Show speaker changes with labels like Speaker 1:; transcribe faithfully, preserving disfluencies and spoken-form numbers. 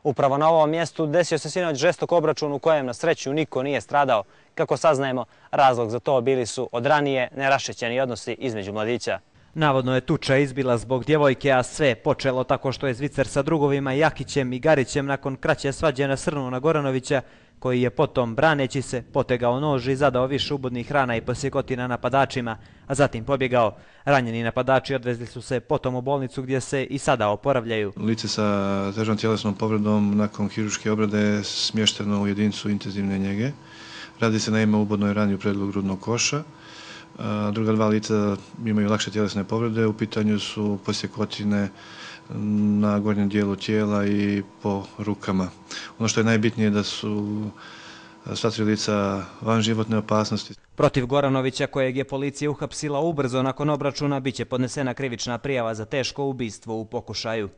Speaker 1: Upravo na ovom mjestu desio se sinoć žestok obračun u kojem na sreću niko nije stradao. Kako saznajemo, razlog za to bili su od ranije nerašećeni odnosi između mladića.
Speaker 2: Navodno je tuča izbila zbog djevojke, a sve počelo tako što je Zvicer sa drugovima Jakićem i Garićem nakon kraće svađe nasrnuo na Goranovića, koji je potom, braneći se, potegao nož i zadao više ubodnih rana i posjekotina napadačima, a zatim pobjegao. Ranjeni napadači odvezli su se potom u bolnicu gdje se i sada oporavljaju.
Speaker 3: Lice sa težom tjelesnom povredom nakon hirurške obrade je smješteno u jedinicu intenzivne njege. Radi se naime o ubodnoj rani u predelu grudnog koša. Druga dva lica imaju lakše tjelesne povrede, u pitanju su posjekotine na gornjem dijelu tijela i po rukama. Ono što je najbitnije da su sva tri lica van životne opasnosti.
Speaker 2: Protiv Goranovića, kojeg je policija uhapsila ubrzo nakon obračuna, biće podnesena krivična prijava za teško ubistvo u pokušaju.